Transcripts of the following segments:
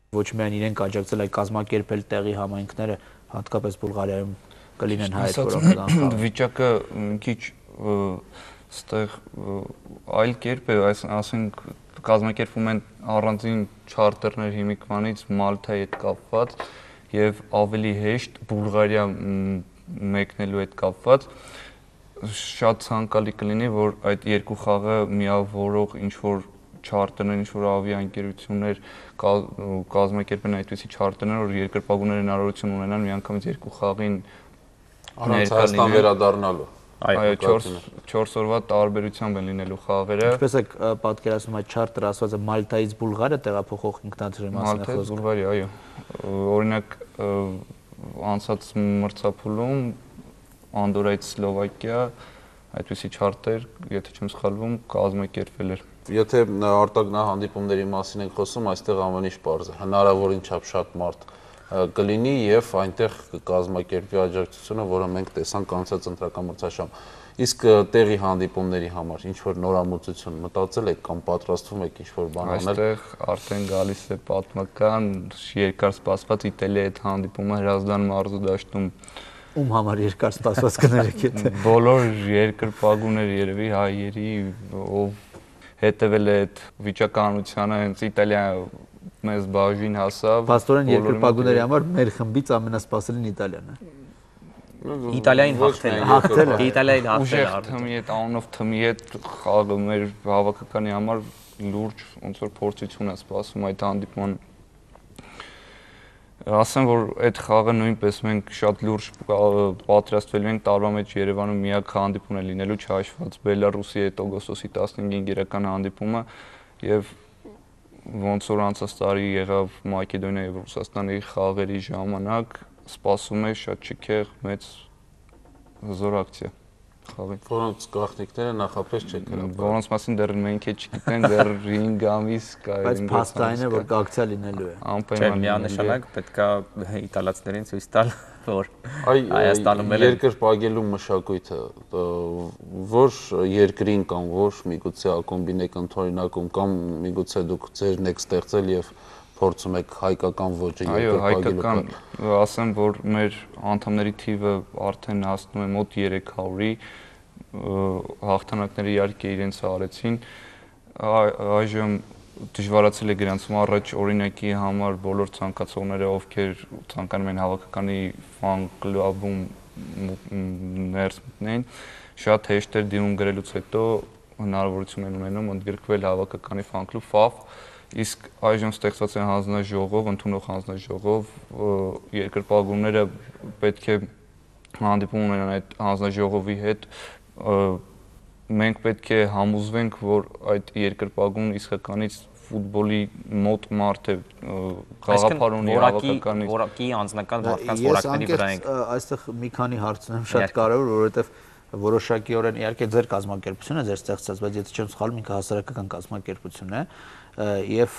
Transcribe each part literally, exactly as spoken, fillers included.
Ոչ միայն իրենք աջակցել, այլ կազմակերպել տեղի համայնքները, հատկապես Բուլղարիայում կլինեն հայեր, որոնք կգան խաղալ։ Վիճակը մի քիչ ստեղ այլ կերպ է, ասենք կազմակերպվում են առանձին չարտերներ հիմիկվանից Մալթայի հետ կապված եւ ավելի հեշտ Բուլղարիա մեկնելու հետ կապված շատ ցանկալի կլինի, որ այդ երկու խաղը միավորող ինչ-որ չարտերներ, ինչ-որ ավիաընկերություններ կազմակերպեն այդպիսի չարտերներ, որ երկրպագուները հնարավորություն ունենան միանգամից երկու խաղին առանց Հայաստան վերադառնալու։ Այո, չորս օրվա տարբերությամբ են լինելու խաղերը։ Ինչպես եք պատկերացնում այդ չարտերը, ասված է Մալթայից Բուլղարիա տեղափոխող ինքնաթիռի մասին է խոսքը։ Մալթայից Բուլղարիա, այո։ Օրինակ անցած մրցափուլում Անդորայից Սլովակիա այդպիսի չարտեր, եթե չեմ սխալվում, կազմակերպվել էր։ Եթե արտագնահանդիպումների մասին ենք խոսում, այստեղ ամեն ինչ պարզ է, հնարավորին չափ շատ մարդ կլինի եւ այնտեղ կազմակերպվի աջակցությունը, որը մենք տեսանք անցած ընտրական մրցաշրջանում։ Իսկ տեղի հանդիպումների համար ինչ որ նորամուծություն մտածել եք կամ պատրաստվում եք ինչ որ բան անել։ Այստեղ արդեն գալիս է պատմական երկար սպասված Իտալիայի հետ հանդիպումը Հրազդան մարզու դաշտում։ Ում համար երկար սպասված կներեք եթե։ Բոլոր երկրպագուներ երևի հայերի, ով հետևել է այդ վիճակահանությանը, հենց Իտալիա մեզ բաժին հասավ։ Պաստորեն երկրպագուների համար մեր խմբից ամենասպասելին Իտալիան է։ Իտալիային հաղթել է։ Իտալիային հաղթել է։ Թմի հետ անունով թմի հետ խաղը մեր հավաքականի համար լուրջ ոնց որ փորձություն է սպասում այդ հանդիպման։ Ասեմ, որ այդ խաղը նույնպես մենք շատ լուրջ պատրաստվել ենք տարվա մեջ Երևանում միակ հանդիպումն է լինելու չհաշված Բելարուսի հետ օգոստոսի տասնհինգին գերական հանդիպումը եւ ոնց որ անցած տարի եղավ Մակեդոնիայի եւ Ռուսաստանի խաղերի ժամանակ սպասում է շատ չքեղ մեծ հզոր ակցիա խաղի։ Որոնց գաղտնիքները նախապես չեք հրապարակել։ Որոնց մասին դեռ մենք էլ չգիտենք, դեռ հինգ ամիս կա։ Բայց փաստային է, որ կակցիա լինելու է։ Անպայման միանշանակ պետքա իտալացիներին ցույց տալ, որ Հայաստանում էլ երկրպագելու մշակույթը որ երկրին կամ որ միգուցե ակումբին եք ընդօրինակում կամ միգուցե դուք ձերն եք ստեղծել եւ փորձում եք հայկական ոճը երկրպագելու։ Այո, հայկական, ասեմ, որ մեր անդամների թիվը արդեն հասնում է մոտ երեք հարյուրի, հաղթանակները իհարկե իրենց արեցին, այժմ դժվարացել է գրանցում առաջ օրինակի համար բոլոր ցանկացողները, ովքեր ցանկանում են հավաքականի ֆան կլուբում ներս մտնեն, շատ հեշտ էր դիմում գրելուց հետո հնարավորություն են ունենում ընդգրկվել հավաքականի ֆան կլուբ Ֆավ, իսկ այժմ ստեղծված է հանձնաժողով, ընդունող հանձնաժողով, երկրպագուները պետք է հանդիպում ունենան այդ հանձնաժողովի հետ, մենք պետք է համոզվենք, որ այդ երկրպագուն իսկականից ֆուտբոլի մոտ մարդ է, գաղափար ունի հավաքականի։ Որակի անձնական մարդկանց որակների վրա ենք։ Ես այստեղ մի քանի հարց ունեմ շատ կարևոր, որովհետև որոշակիորեն իհարկե ձեր կազմակերպությունը, ձեր ստեղծած, բայց եթե չեմ սխալվում, ինքը հասարակական կազմակերպություն է եւ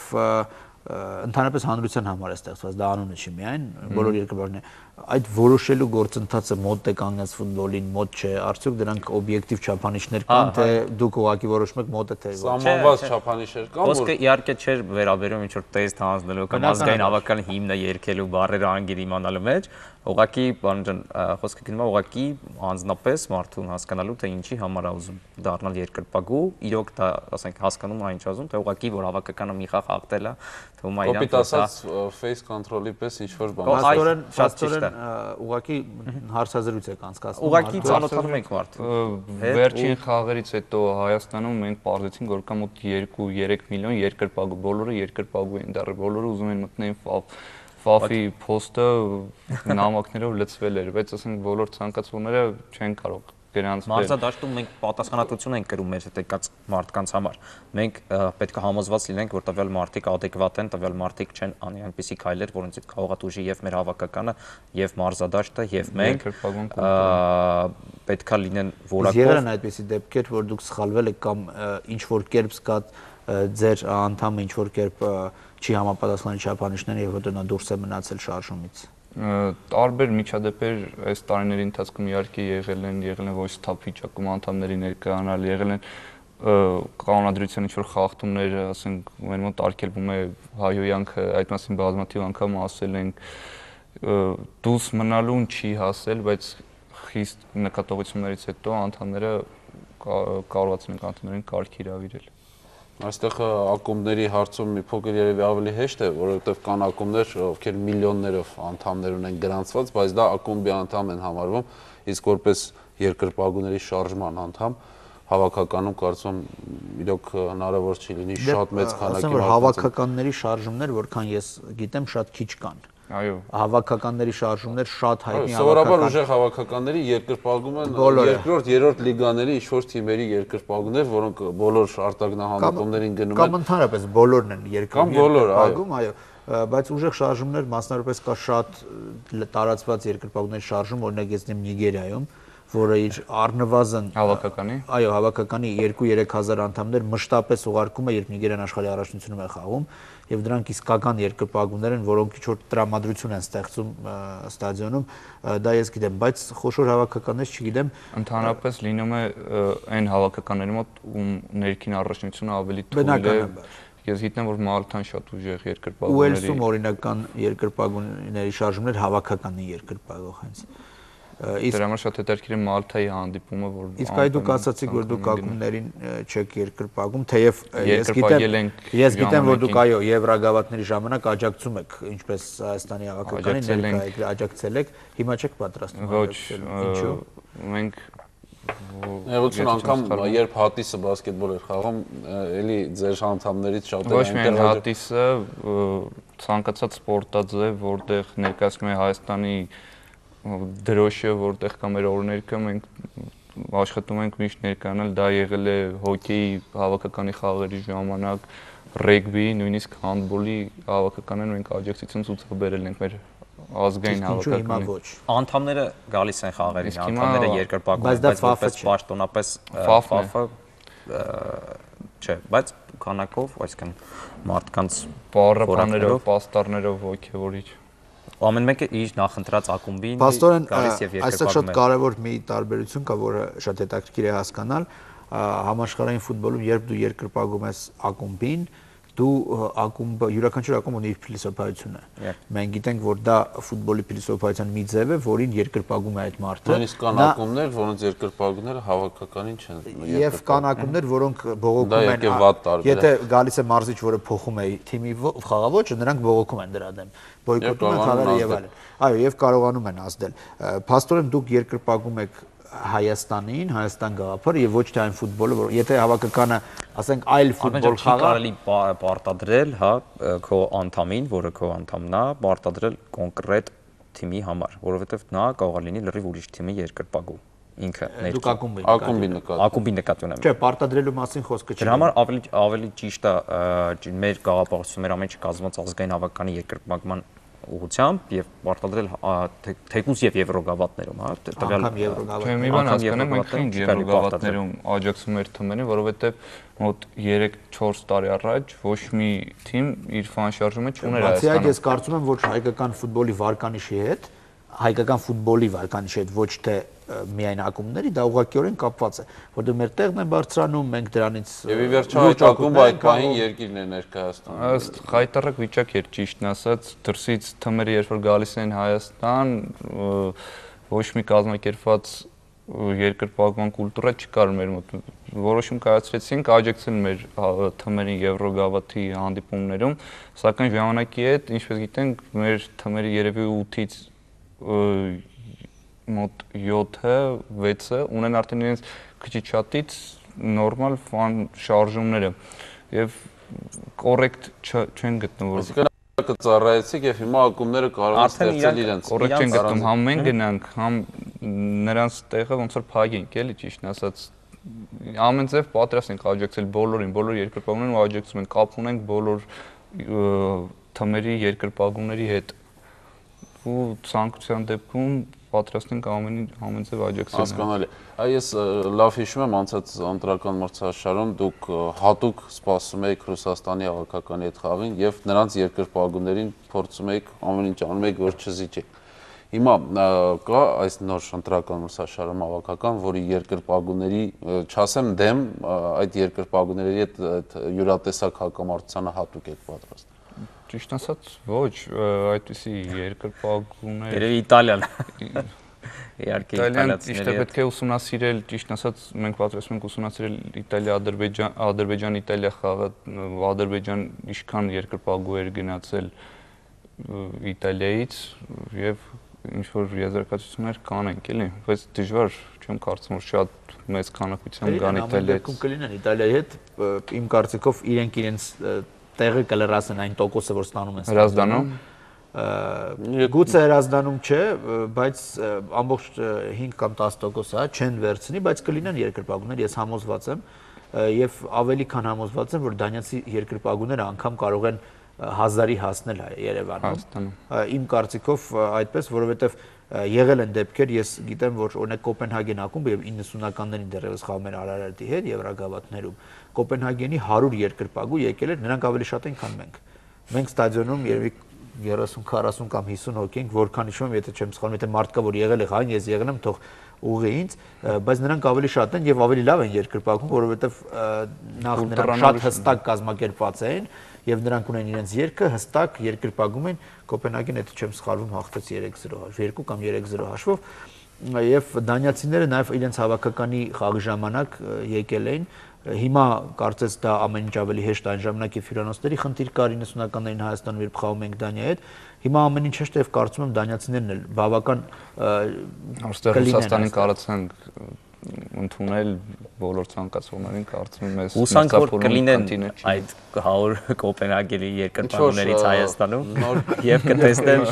ընդհանրապես հանրության համար է ստեղծված, դա անունը չի միայն, բոլոր երկրպագուները այդ որոշելու գործընթացը մոտ է կանգնած ֆուտբոլին, մոտ չէ, արդյոք դրանք օբյեկտիվ չափանիշներ կան, թե դուք ուղղակի որոշում եք մոտ է թե ոչ։ Սահմանված չափանիշներ կան, որ Ոսկե իհարկե չէր վերաբերում ինչ որ տեստ հանձնելու կամ ազգային հավաքականի հիմնը երկելու բառերը անգիր իմանալու մեջ, ուղղակի բան ջան, խոսքը գնում է ուղղակի անձնապես մարդուն հասկանալու թե ինչի համար է ուզում դառնալ երկրպագու, իրոք դա ասենք հասկանում է ինչ ուզում, թե ուղղակի որ հավաքականը մի խաղ հաղթել է, թվում է իրան կոպիտ ասած face control-ի պես ինչ որ բան։ Պաստորեն, պաստորեն ուղղակի հարցազրույց եք անցկացնում։ Ուղղակի ծանոթանում ենք մարդուն։ Վերջին խաղերից հետո Հայաստանում մենք պարզեցինք, որ կա մոտ երկու-երեք միլիոն երկրպագու, բոլորը երկրպագու են դեռ, բոլորը ուզում են մտնել Ֆավ։ Ֆավի փոստը նամակներով լցվել էր, բայց ասենք բոլոր ցանկացողները չեն կարող գրանցվել։ Մարզադաշտում մենք պատասխանատվություն ենք կրում մեր հետ եկած մարդկանց համար։ Մենք պետք է համոզված լինենք, որ տվյալ մարդիկ adekvat են, տվյալ մարդիկ չեն անի այնպիսի քայլեր, որոնցից կարող է դժի եւ մեր հավաքականը, եւ մարզադաշտը, եւ մենք պետք է լինեն որակով։ Եղել են այդպիսի դեպքեր, որ դուք սխալվել եք կամ ինչ որ կերպ սկա ձեր անդամը ինչ որ կերպ չի համապատասխանել չափանիշներին եւ հետո նա դուրս է մնացել շարժումից։ Տարբեր միջադեպեր այս տարիների ընթացքում իհարկե եղել են, եղել են ոչ սթափ վիճակում անդամների ներկայանալ, եղել են կանոնադրության ինչ որ խախտումներ, ասենք, մեր մոտ արգելվում է հայոյանքը, այդ մասին բազմաթիվ անգամ ասել ենք, դուրս մնալուն չի հասել, բայց խիստ նկատողություններից հետո անդամները կարողացել են անդամներին կարգ իրավիրել։ Այստեղ ակումբների հարցում մի փոքր երևի ավելի հեշտ է, որովհետև կան ակումբներ, ովքեր միլիոններով անդամներ ունեն գրանցված, բայց դա ակումբի անդամ են համարվում, իսկ որպես երկրպագուների շարժման անդամ հավաքականում կարծում իրոք հնարավոր չի լինի շատ մեծ քանակի մարդկանց։ Հավաքականների շարժումներ, որքան ես գիտեմ, շատ քիչ կան։ Այո, հավաքականների շարժումներ շատ հայտնի հավաքական։ Սովորաբար ուժեղ հավաքականների երկրպագում են երկրորդ, երրորդ լիգաների ինչ-որ թիմերի երկրպագուներ, որոնք բոլոր արտագնահանդիպումներին գնում են։ Կամ ընդհանրապես բոլորն են երկրպագում, այո, բայց ուժեղ շարժումներ մասնավորապես կա շատ տարածված երկրպագուների շարժում, օրինակ ես դեմ Նիգերիայում, որը իր առնվազն հավաքականի, այո, հավաքականի երկու-երեք հազար անդամներ մշտապես ուղարկում է, երբ Նիգերիան աշխարհի առաջնությունում է խաղում, եւ դրանք իսկական երկրպագուներ են, որոնք ինչ որ տրամադրություն են ստեղծում ստադիոնում, դա ես գիտեմ, բայց խոշոր հավաքականներ չգիտեմ։ Ընդհանրապես լինում է այն հավաքականների մոտ, ում ներքին առաջնությունը ավելի թույլ է։ Ես գիտեմ, որ Մալթան շատ ուժեղ երկրպագուների։ Ուելսում օրինական երկրպագուների շարժումներ հավաքականի երկրպագող հենց։ Դրա համար շատ հետաքրքիր է Մալթայի հանդիպումը, որ իսկ այ դուք ասացիք, որ դուք ակումբներին չեք երկրպագում, թեև ես գիտեմ, ես գիտեմ, որ դուք այո, եվրագավաթների ժամանակ աջակցում եք, ինչպես Հայաստանի հավաքականին ներկայ աջակցել եք, հիմա չեք պատրաստվում աջակցել։ Ինչու՞։ Մենք Էղություն անգամ երբ հատիսը բասկետբոլ էր խաղում, էլի ձեր անդամներից շատերը ոչ միայն հատիսը, ցանկացած սպորտաձև, որտեղ ներկայացնում է Հայաստանի դրոշը, որտեղ կա մեր օրներքը, մենք աշխատում ենք միշտ ներկայանալ, դա եղել է հոկեյի հավաքականի խաղերի ժամանակ, ռեգբի, նույնիսկ հանդբոլի հավաքականին մենք աջակցություն ցուցաբերել ենք մեր ազգային հավաքականին։ Անդամները գալիս են խաղերին, անդամները երկրպագում են, բայց որպես պաշտոնապես ֆաֆը չէ, բայց քանակով, այսինքն մարդկանց բառապաններով, պաստառներով ոգևորիչ։ Ամեն մեկը իր նախընտրած ակումբին գալիս եւ երկրպագում է։ Այստեղ շատ կարևոր մի տարբերություն կա, որը շատ հետաքրքիր է հասկանալ, համաշխարհային ֆուտբոլում երբ դու երկրպագում ես ակումբին, դու ակումբը յուրաքանչյուր ակումբ ունի իր փիլիսոփայությունը։ Մենք գիտենք, որ դա ֆուտբոլի փիլիսոփայության մի ձև է, որին երկրպագում է այդ մարդը։ Նույնիսկ կան ակումբներ, որոնց երկրպագուները հավաքականին չեն։ Եվ կան ակումբներ, որոնք բողոքում են, եթե գալիս է մարզիչ, որը փոխում է թիմի խաղաոճը, նրանք բողոքում են դրա դեմ, բոյկոտում են խաղերը եւ այլն։ Այո, եւ կարողանում են ազդել։ Փաստորեն դուք երկրպագում եք Հայաստանին, Հայաստան գաղափարը եւ ոչ թե այն ֆուտբոլը, որ եթե հավաքականը, ասենք, այլ ֆուտբոլ խաղա, կարելի պարտադրել, հա, քո անդամին, որը քո անդամն է, պարտադրել կոնկրետ թիմի համար, որովհետեւ նա կարող է լինի լրիվ ուրիշ թիմի երկրպագու ինքը ներքին։ Դուք ակումբի ակումբի նկատի։ Ակումբի նկատի ունեմ։ Չէ, պարտադրելու մասին խոսքը չի։ Դրա համար ավելի ավելի ճիշտ է մեր գաղափարությունը, մեր ամեն ինչ կազմված ազգային հավաքականի երկրպագման ուղղությամբ եւ պարտադրել թեկուզ եւ եվրոգավաթներում, հա, տվյալ եվրոգավաթ։ Մի բան հասկանեմ, մենք քիչ եվրոգավաթներում աջակցում էր թմերին, որովհետեւ մոտ երեք-չորս տարի առաջ ոչ մի թիմ իր ֆան շարժումը չուներ Հայաստանում։ Բացի այդ, ես կարծում եմ, որ հայկական ֆուտբոլի վարկանիշի հետ, հայկական ֆուտբոլի վարկանիշի հետ, ոչ թե միայն ակումբների, դա ուղղակիորեն կապված է, որտեղ մեր տեղն է բարձրանում, մենք դրանից եւ ի վերջո այդ ակումբը այդ պահին երկիրն է ներկայացնում։ Ըստ խայտարակ վիճակ էր ճիշտն ասած, դրսից թմերը երբ որ գալիս են Հայաստան, ոչ մի կազմակերպված երկրպագման կուլտուրա չկար մեր մոտ։ Որոշում կայացրեցինք աջակցել մեր թմերին եվրոգավաթի հանդիպումներում, սակայն ժամանակի հետ, ինչպես գիտենք, մեր թմերի երևի ութից մոտ յոթը, վեցը ունեն արդեն իրենց քիչ շատից նորմալ ֆան շարժումները եւ կոռեկտ չեն գտնվում։ Այսինքն կծառայեցիք եւ հիմա ակումբները կարող են ստեղծել իրենց։ Կոռեկտ չեն գտնում, համ մենք գնանք, համ նրանց տեղը ոնց որ փագենք, էլի ճիշտն ասած։ Ամեն ձև պատրաստ ենք աջակցել բոլորին, բոլոր երկրպագուներին ու աջակցում ենք, կապ ունենք բոլոր թմերի երկրպագուների հետ։ Ու ցանկության դեպքում պատրաստ ենք ամեն ամեն ձև աջակցել։ Հասկանալի։ Այ ես լավ հիշում եմ անցած ընտրական մրցաշարում դուք հատուկ սպասում եք Ռուսաստանի հավաքականի հետ խաղին եւ նրանց երկրպագուներին փորձում եք ամեն ինչ անում եք որ չզիջեք։ Հիմա կա այս նոր ընտրական ուսաշարում հավաքական, որի երկրպագուների, չասեմ դեմ, այդ երկրպագուների հետ յուրատեսակ հակամարտությանը հատուկ եք պատրաստ։ Ճիշտ ասած, ոչ, այդպիսի երկրպագուներ։ Երևի Իտալիան։ Իհարկե Իտալիան ճիշտ է պետք է ուսումնասիրել, ճիշտ ասած, մենք պատրաստվում ենք ուսումնասիրել Իտալիա-Ադրբեջան, Ադրբեջան-Իտալիա խաղը, Ադրբեջան ինչքան երկրպագու էր գնացել Իտալիայից եւ ինչ որ եզրակացություններ կանենք, էլի, բայց դժվար չեմ կարծում որ շատ մեծ քանակությամբ կան Իտալիայից։ Կլինեն Իտալիայի հետ, իմ կարծիքով իրենք իրենց տեղը կլրացնեն այն տոկոսը, որ ստանում են։ Հրազդանում Գուցե հրազդանում չէ, բայց ամբողջ հինգ կամ տասը տոկոս հա չեն վերցնի, բայց կլինեն երկրպագուներ, ես համոզված եմ եւ ավելի քան համոզված եմ, որ դանիացի երկրպագուները անգամ կարող են հազարի հասնել Երևանում։ Իմ կարծիքով այդպես, որովհետեւ եղել են դեպքեր, ես գիտեմ, որ օրինակ Կոպենհագեն ակումբը եւ իննսունականներին դեռևս խաղում էր Արարատի հետ Եվրագավաթներում, Կոպենհագենի հարյուր երկրպագու եկել էր, նրանք ավելի շատ են, քան մենք։ Մենք ստադիոնում երևի երեսուն քառասուն կամ հիսուն հոգի ենք, որքան հիշում եմ, եթե չեմ սխալվում, եթե մարդ կա, որ եղել է խաղին, ես եղել եմ, թող ուղղի ինձ, բայց նրանք ավելի շատ են եւ ավելի լավ են երկրպագում, որովհետեւ նախ նրանք շատ հստակ կազմակերպված են եւ նրանք ունեն իրենց երգը, հստակ երկրպագում են, Կոպենհագեն, եթե չեմ սխալվում, հաղթեց երեք զրո, երկու կամ երեք զրո հաշվով, եւ դանիացիները նաեւ իրենց հավաքականի խաղի ժամանակ եկել էին։ Հիմա կարծես դա ամեն ինչ ավելի հեշտ այն ժամանակ եւ հյուրանոցների խնդիր կար իննսունականներին Հայաստանում, երբ խաղում ենք Դանիայի հետ։ Հիմա ամեն ինչ հեշտ է եւ կարծում եմ դանիացիներն էլ բավական Այստեղ Ռուսաստանին կարծենք ընդունել բոլոր ցանկացողներին կարծում եմ ես հուսանք որ կլինեն այդ հարյուր Կոպենհագենի երկրպագուներից Հայաստանում եւ կտեսնեն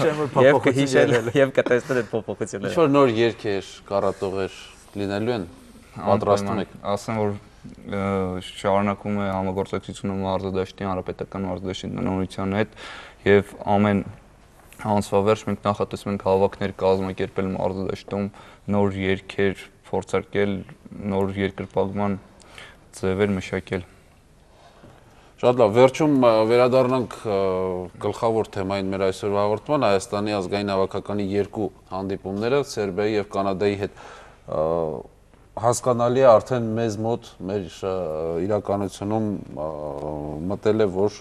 եւ կհիշեն եւ կտեսնեն այդ փոփոխությունները։ Ինչ որ նոր երգեր, կառատողեր լինելու են, պատրաստում եք։ Ասեմ որ շարունակում է համագործակցությունը մարզադաշտի, հանրապետական մարզադաշտի տնօրինության հետ եւ ամեն ամսվա վերջ մենք նախատեսում ենք հավաքներ կազմակերպել մարզադաշտում, նոր երգեր փորձարկել, նոր երկրպագման ձևեր մշակել։ Շատ լավ, վերջում վերադառնանք գլխավոր թեմային մեր այսօրվա հաղորդման, Հայաստանի ազգային հավաքականի երկու հանդիպումները Սերբիայի եւ Կանադայի հետ հասկանալի է արդեն մեզ մոտ մեր իրականությունում մտել է, որ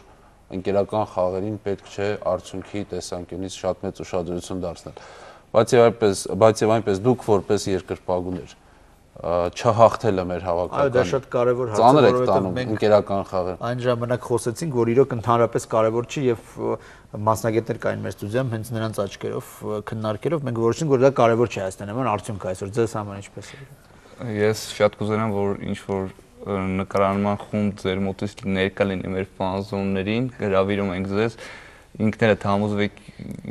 ընկերական խաղերին պետք չէ արդյունքի տեսանկյունից շատ մեծ ուշադրություն դարձնել։ Բայց եւ այնպես, բայց եւ այնպես դուք որպես երկրպագուներ չհաղթելը մեր հավաքական։ Այո, դա շատ կարևոր հարց է, որովհետեւ մենք ընկերական խաղեր այն ժամանակ խոսեցինք, որ իրոք ընդհանրապես կարևոր չի եւ մասնագետներ կային մեր ստուդիայում, հենց նրանց աչքերով քննարկելով մենք որոշեցինք, որ դա կարևոր չի Հայաստանի համար արդյունքը այսօր ձեզ համար ինչպես է։ Ես շատ կուզենամ, որ ինչ որ նկարանման խումբ ձեր մոտից ներկա լինի մեր ֆանզոններին, հրավիրում ենք ձեզ, ինքներդ համոզվեք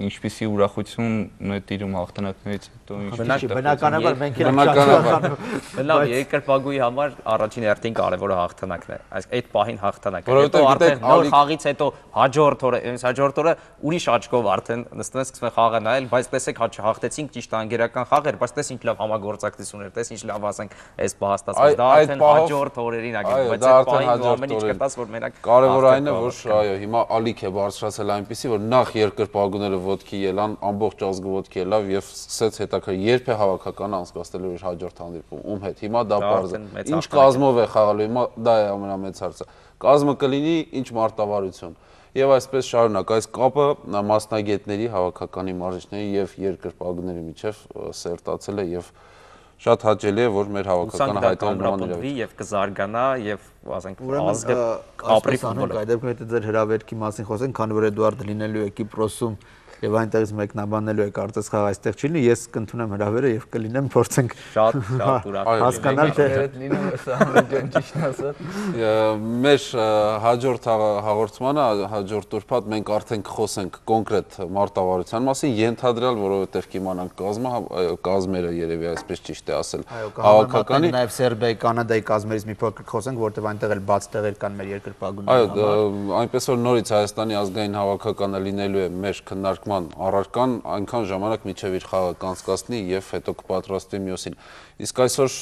ինչպիսի ուրախություն նետիրում հաղթանակներից հետո ինչպիսի բնականաբար մենք էլ լավ երկրպագուի համար առաջին հերթին կարևորը հաղթանակն է, այս այդ պահին հաղթանակը, հետո արդեն նոր խաղից հետո հաջորդ օրը, այս հաջորդ օրը ուրիշ աչքով արդեն նստում ենք սկսում ենք խաղը նայել, բայց տեսեք հաղթեցինք ճիշտ անգերական խաղեր, բայց տես ինչ լավ համագործակցություն էր, տես ինչ լավ ասենք այս պահաստացած, դա արդեն հաջորդ օրերին ա գնում, բայց այդ պահին ամեն ինչ կտաս որ մենակ կարևոր այն է, որ այո, հիմա ալիք է բարձրացել այնպեսի, որ նախ երկրպագուները ոտքի ելան, ամբողջ ազգը ոտքի ելավ եւ սկսեց հետաքրքիր երբ է հավաքականը անցկացնելու իր հաջորդ հանդիպում, ում հետ։ Հիմա դա բարձ է։ Ինչ կազմով է խաղալու, հիմա դա է ամենամեծ հարցը։ Կազմը կլինի ինչ մարտավարություն։ Եվ այսպես շարունակ, այս կապը մասնագետների, հավաքականի մարզիչների եւ երկրպագուների միջև սերտացել է եւ շատ հաճելի է, որ մեր հավաքականը հայտարարում է եւ կզարգանա եւ ասենք ազգը ապրի ֆուտբոլը։ Այդ դեպքում եթե ձեր հրավերքի մասին խոսենք, քանի որ Էդուարդը լինելու է Կիպրոսում եւ այնտեղից մեկնաբանելու է կարծես խաղ այստեղ չի լինի, ես կընդունեմ հրավերը եւ կլինեմ, փորձենք շատ շատ ուրախ հասկանալ թե լինում է սա ամեն ճիշտ ասած։ Մեր հաջորդ հաղորդմանը, հաջորդ ուրբաթ մենք արդեն կխոսենք կոնկրետ մարտավարության մասին, ենթադրյալ, որովհետեւ կիմանանք կազմը, կազմերը երևի այսպես ճիշտ է ասել։ Հավաքականի նաեւ Սերբիայի, Կանադայի կազմերից մի փոքր խոսենք, որտեղ այնտեղ էլ բաց տեղեր կան մեր երկրպագուների համար։ Այո, այնպես որ նորից Հայաստանի ազգային հավաքականը լինելու է մեր քննարկման քննարկման առարկան այնքան ժամանակ միջև իր խաղը կանցկացնի եւ հետո կպատրաստվի մյուսին։ Իսկ այսօր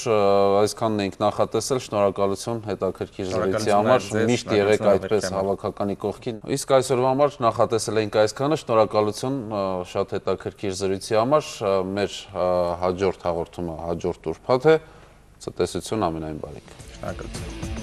այսքանն ենք նախատեսել, շնորհակալություն հետաքրքիր զրույցի համար, միշտ եղեք այդպես հավաքականի կողքին։ Իսկ այսօրվա համար նախատեսել ենք այսքանը, շնորհակալություն շատ հետաքրքիր զրույցի համար, մեր հաջորդ հաղորդումը հաջորդ ուրբաթ է, ցտեսություն ամենայն բարիք։ Շնորհակալություն։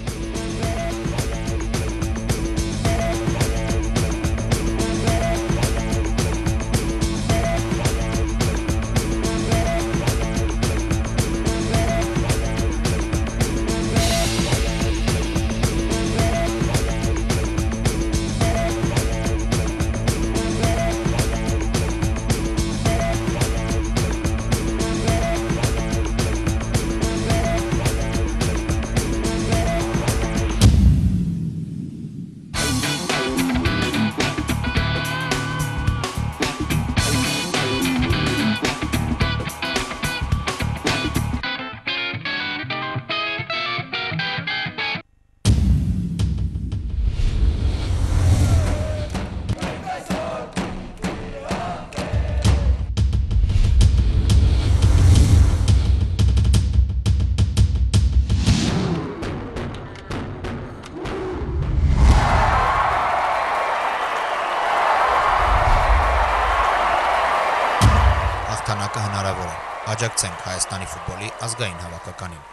Հաղթանակը հնարավոր է։ Աջակցենք Հայաստանի ֆուտբոլի ազգային հավաքականին։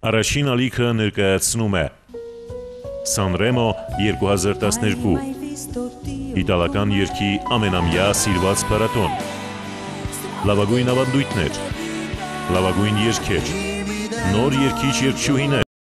Առաջին ալիքը ներկայացնում է Սանրեմո երկու հազար տասներկու իտալական երգի ամենամյա սիրված փառատոն, լավագույն ավանդույթներ, լավագույն երգեր, նոր երգիչ երգչուհիներ,